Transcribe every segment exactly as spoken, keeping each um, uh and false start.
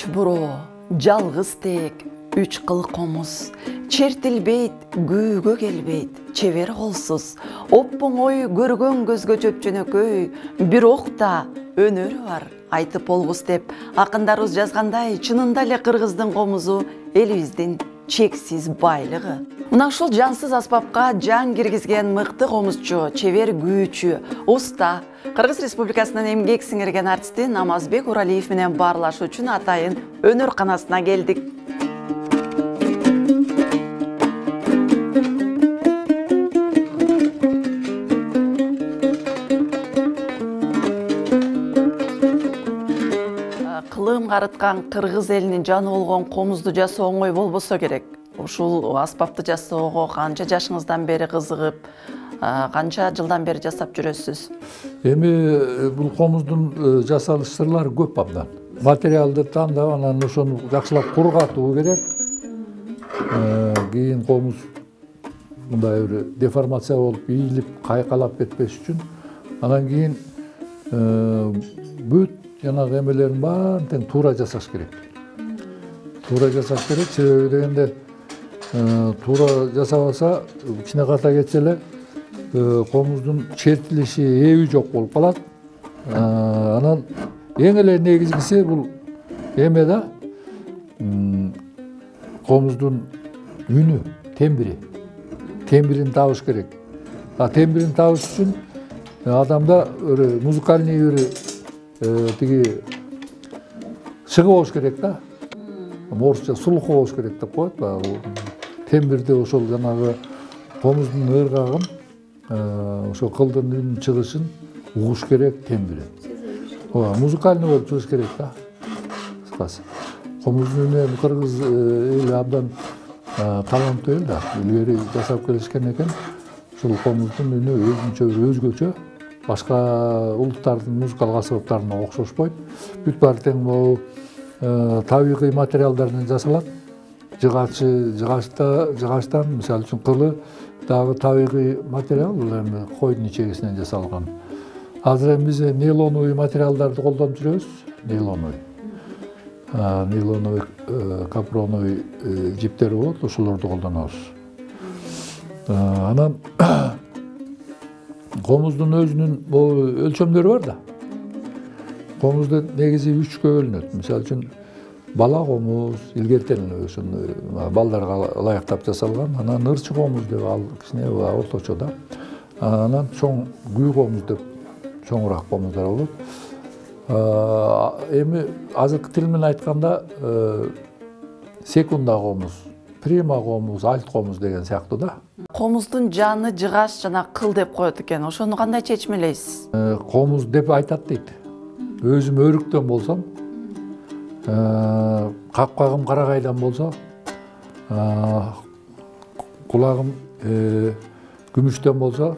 Үч буроо, жалгыз тек, үч кыл комуз, чертилбейт, күүгө келбейт, чебер колсуз, оп-оңой көргөн көзгө жөп-жөнөкөй, бирок да өнөрү бар, айтып болгус деп акындарыбыз жазгандай, чынында эле кыргыздын комузу элибиздин чексиз байлыгы. Мына ушул жансыз аспапка жан киргизген мыкты комузчу, чебер күүчү, уста, Кыргыз Республикасынын эмгек сиңирген артисти Намазбек Уралиев менен баарлашуу үчүн атайын өнөр канасына келдик. Кылым карыткан кыргыз элинин жаны болгон комузду жасоо оңой болбосо керек. Ушул аспапты жасоого канча жашыңыздан бери кызыгып, канча жылдан бери жасап жүрөсүз? Эми бул комуздун жасалыш сырлары көп абдан. Материалды тандап, анан ошону жакшылап кургатуу керек. Кийин комуз мындай бир деформация болуп, ийилип, кайкалап кетпеш үчүн. Анан кийин бүт жанагы эмелерин баарын тең туура жасаш керек. Туура жасаш керек, себеби дегенде туура жасабаса, кичине ката кетсе эле комуздун чертилиши, эби жок болуп калат. Анан эң эле негизгиси бул эме да, комуздун үнү, тембри. Тембрин табыш керек. А тембрин табыш үчүн адамда музыкальный бир тиги шыгы болуш керек да. Орусча слух болуш керек деп коет. Тембрди ошол жанагы комуздун ыргагын, ошо кылдын үнүн чыгышын угуш керек тембри. Ооба, музыкальный болуп чыгыш керек да. Кыскасы. Комуздун үнү кыргыз эли абдан таланттуу эл да. Илгери жасап келишкен экен. Ушул комуздун үнү өзүнчө бир өзгөчө. Башка улуттардын музыкалык аспаптарына окшошпойт. Бүт баары тең могу табигый материалдардан жасалат. Жыгачы, жыгачта, жыгачтан, мисалы үчүн кылы дагы табигый материал, бул эми койдун ичегисинен жасалган. Азыр эми биз нейлоновый материалдарды колдонуп жүрөбүз. Нейлоновый. Нейлоновый, капроновый жиптер болот, ошолорду колдонобуз. Анан комуздун өзүнүн өлчөмдөрү бар да. Комузду негизи үчкө бөлүнөт. Мисалы үчүн бала комуз, илгертен ошону балдарга ылайыктап жасалган. Анан ырчы комуз деп ал кичине орточо да. Анан чоң күү комуз деп чоңураак комуздар болот. Эми азыркы тил менен айтканда секунда комуз, прима комуз, альт комуз деген сыяктуу да. Комуздун жаны жыгаш жана кыл деп коет экен. Ошону кандай чечмелейсиз? Комуз деп айтат дейт. Өзүм өрүктөн болсом, капкагым карагайдан болсо, кулагым күмүштөн болсо,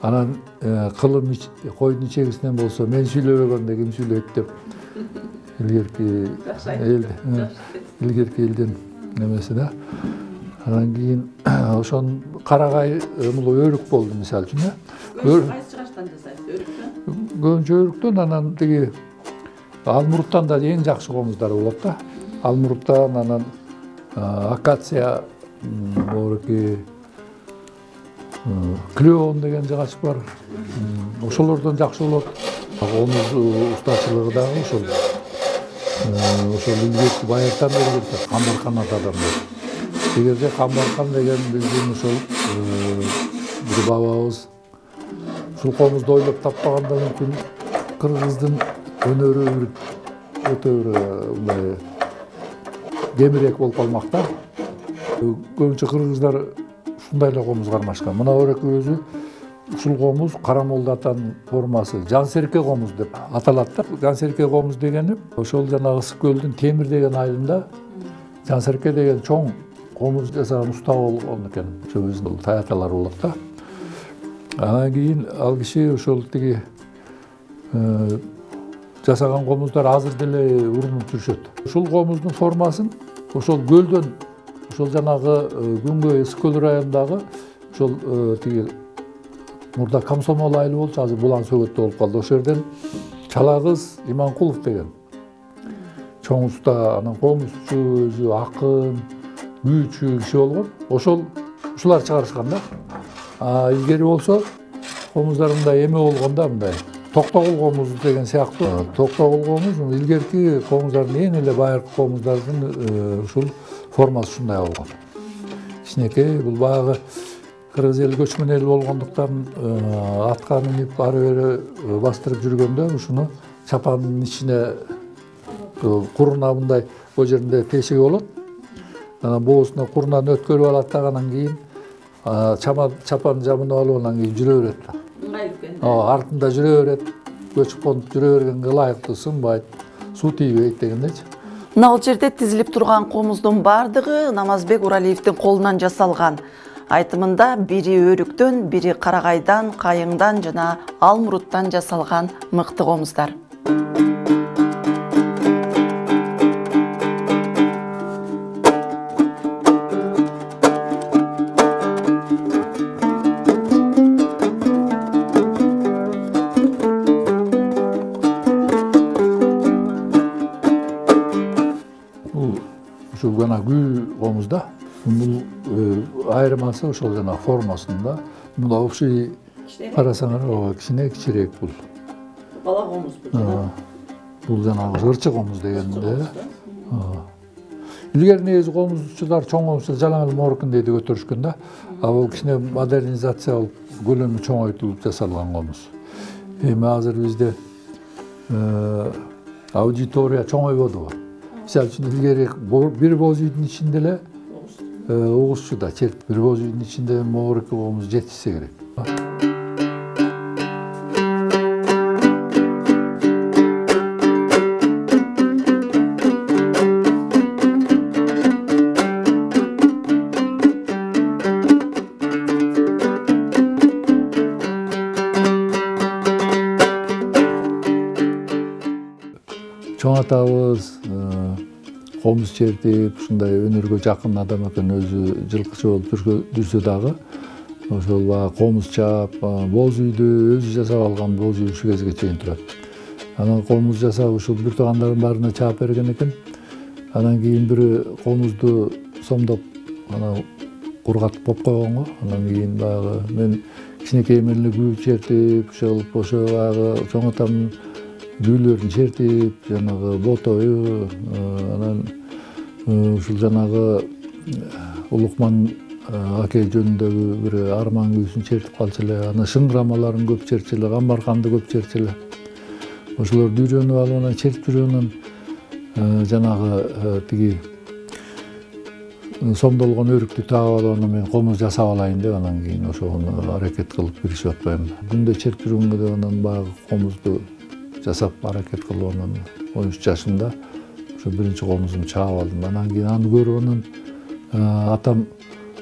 анан кылым койдун ичегисинен болсо, мен сүйлөбөгөндө ким сүйлөйт деп илгерки элде, илгерки элдин немеси да. Анан кийин ошонун карагай өрүк болду мисалы үчүн. Кайсы жыгачтан жасайсыз? Өрүктөн? Көбүнчө өрүктөн, анан тиги алмуруттан да эң жакшы комуздар болот да. Алмуруттан, анан акация, моруки клеон деген жыгач бар. Ошолордон жакшы болот. Комуз устачылыгы дагы ошол. Ошол илгерки баягыдан бери келет, Камбаркан атадан бери. Эгерде Камбаркан деген биздин ошол бир бабабыз ушул комузду ойлоп таппаганда мүмкүн кыргыздын өнөрү бир өтө бир мындай кемирээк болуп калмак да. Көбүнчө кыргыздар ушундай эле комуз кармашкан. Мына ореки өзү ушул комуз Карамолду атанын формасы, Жансерке комуз деп аталат да. Жансерке комуз дегени ошол жанагы Ысык көлдүн Темир деген айылында Жансерке деген чоң комуз жасаган уста болгон экен. Ошо биздин таяталар болот да. Анан кийин ал киши ошол тиги жасаган комуздар азыр деле урунуп жүрүшөт. Ушул комуздун формасын ошол көлдөн, ошол жанагы Күнгөй Ысык көл районундагы ошол тиги мурда Комсомол айылы болчу, азыр Булан Сөгөттө болуп калды. Ошол жерден Чала кыз Иманкулов деген чоң уста, анан комузчу өзү акын, күйчү киши болгон. Ошол ушулар чыгарышкан да. А илгери болсо комуздарында эме болгон да, мындай Токтогул комуз деген сыяктуу. Токтогул комуз илгерки комуздардын эң эле байыркы комуздардын ушул формасы ушундай болгон. Кичинекей, бул баягы кыргыз эли көчмөн эл болгондуктан атка минип ары бери бастырып жүргөндө ушуну чапандын ичине куруна мындай бул жеринде тешеги болот. Анан боосуна курунан өткөрүп алат да, анан кийин чапан жабынып алып анан кийин жүрө берет да. Ооба, артында жүрө берет. Көчүп конуп жүрө бергенге ылайыктуу, сынбайт, суу тийбейт дегендечи. Мына бул жерде тизилип турган комуздун бардыгы Намазбек Уралиевдин колунан жасалган. Айтымында бири өрүктөн, бири карагайдан, кайыңдан жана алмуруттан жасалган мыкты комуздар. Ушул гана күй комузда. Бул айырмасы ошол жана формасында. Мына общий карасаңар, ооба, кичине кичирээк бул. Бала комуз бул. Бул жанагы ырчы комуз дегенде. Илгери негизи комузчулар чоң комузчу жалаң эле моркундейди көтөрүшкөн да. А бул кичине модернизация болуп, көлөмү чоңойтулуп жасалган комуз. Эми азыр бизде аудитория чоңойбодубу? Мисалы үчүн илгери бир боз үйдүн ичинде эле угузчу да чертип, бир боз үйдүн ичинде могуреки комуз жетишсе керек. Чоң атабыз комуз чертип, ушундай өнөргө жакын адам экен, өзү жылкычы болуп жүрсө дагы, ошол баягы комуз чаап, боз үйдү өзү жасап алган боз үй ушул кезге чейин турат. Анан комуз жасап ушул бир туугандардын баарына чаап берген экен. Анан кийин бири комузду сомдоп, анан кургатып коюп койгонго, анан кийин баягы мен кичинекей менен эле күй чертип, ошол ошо баягы чоң атамдын күүлөрүн чертип, жанагы ботою, анан ушул жанагы Улукман аке жөнүндөгү бир арман күүсүн чертип калчу эле, анан шыңгырамаларын көп чертчү эле, Камбарканды көп чертчү эле. Ошолорду үйрөнүп алып, анан чертип жүргөндөн жанагы тиги сомдолгон өрүктү таап алып, анан мен комуз жасап алайын деп, анан кийин ошону аракет кылып киришип атпаймын. Күндө чертип жүргөнгө деп анан баягы комузду жасап аракет кылып, анан он үч жашымда ошо биринчи комузумду чаап алдым. Анан кийин аны көрүп, анан атам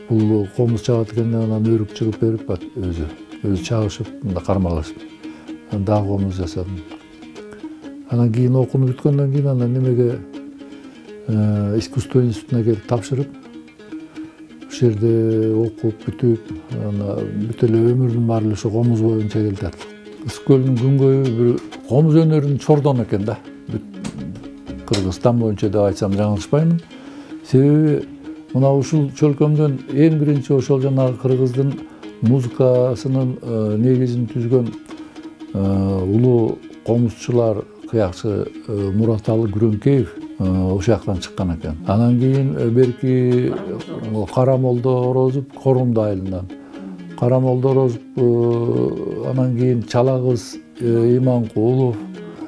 бул комуз чаабат экен деп, анан өрүк чыгып берип өзү өзү чабышып, мында кармалашып, анан дагы комуз жасадым. Анан кийин окууну бүткөндөн кийин анан немеге искусство институтуна келип тапшырып, ошол жерде окуп бүтүп, анан бүт эле өмүрүм баары эле ошо комуз боюнча келди. Ысык көлдүн күнгөйү бир комуз өнөрүнүн чордону экен да. Кыргызстан боюнча деп айтсам жаңылышпаймын. Себеби мына ушул чөлкөмдөн эң биринчи ошол жанагы кыргыздын музыкасынын негизин түзгөн улуу комузчулар кыякчы Мураталы Күрөңкеев ошол жактан чыккан экен. Анан кийин берки Карамолдо Орозов Корунду айылынан. Карамолдо Орозов, анан кийин Чалагыз Иманкулов,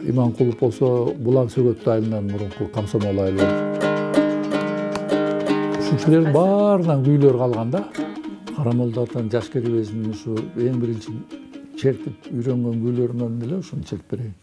Иманкулов болсо Булан Сөгөттү айылынан, мурунку Комсомол айылы. Ушулердин баарынан күүлөр калган да. Карамолдотон жаш кербезин ушу эң биринчи чертип үйрөнгөн күүлөрүнөн эле ушуну чертип берейин.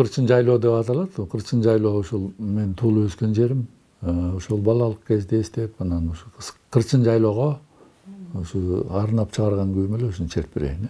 Кырчын жайлоо деп аталат. Кырчын жайлоо ушул мен туулуп өскөн жерим. Ошол балалык кезде эстеп, анан ушу Кырчын жайлоого ушу арнап чыгарган күйүм эле ушуну чертип берейин.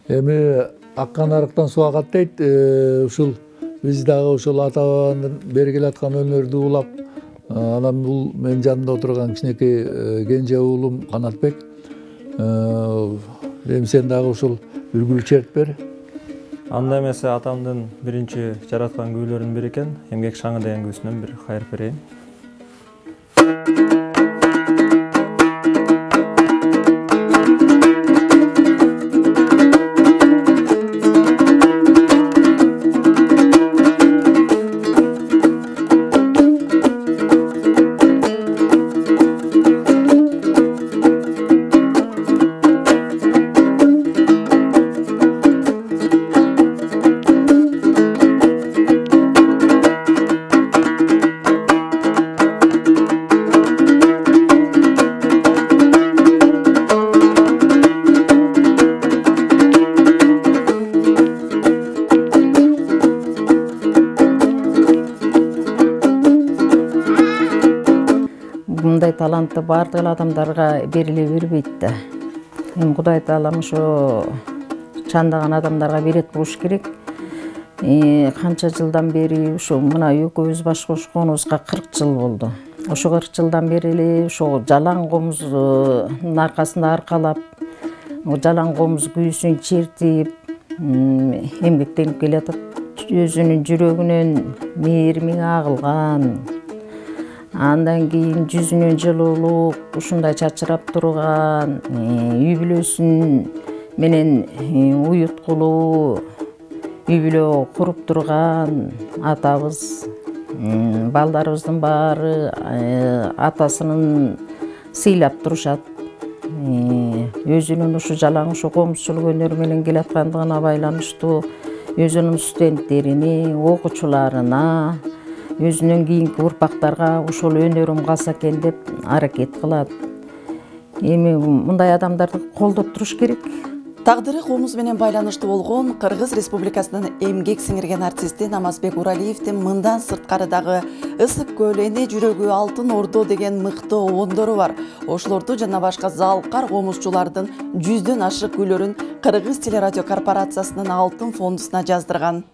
Эми аккан арыктан суу агат дейт. Ушул биз дагы ошол ата бабанын бери келаткан өнөрдү улап, анан бул менин жанымда отурган кичинекей кенже уулум Канатбек. Эми сен дагы ушул үлгүлү чертип бер. Анда эмесе атамдын биринчи жараткан күүлөрүнүн бири экен. Эмгек шаңы деген күүсүнөн бир кайрып берейин. Мындай талантты бардык адамдарга бериле бербейт да. Эми Кудай таалам ошо чандаган адамдарга берет болуш керек. Канча жылдан бери ушу мына экөөбүз баш кошконубузга кырк жыл болду. Ошо кырк жылдан бери эле ошо жалаң комуздун аркасында аркалап, жалаң комуз күүсүн чертип, эмгектенип келатат. Өзүнүн жүрөгүнөн мээрими агылган. Андан кийин жүзүнөн жылуулук, ушундай чачырап турган, үй бүлөсүн менен уюткулуу, үй бүлө куруп турган атабыз, балдарыбыздын баары атасынын сыйлап турушат. Өзүнүн ушу жалаң ушу комузчулук өнөрү менен келаткандыгына байланыштуу өзүнүн студенттерине, окуучуларына, өзүнөн кийинки урпактарга ушул өнөрүм калса экен деп аракет кылат. Эми мындай адамдарды колдоп туруш керек. Тагдыры комуз менен байланыштуу болгон Кыргыз Республикасынын эмгек сиңирген артисти Намазбек Уралиевдин мындан сырткары дагы Ысык көл, Эне жүрөгү, Алтын Ордо деген мыкты обондору бар. Ошолорду жана башка залкар комузчулардын жүздөн ашык күйлөрүн Кыргыз телерадио корпорациясынын Алтын фондусуна жаздырган.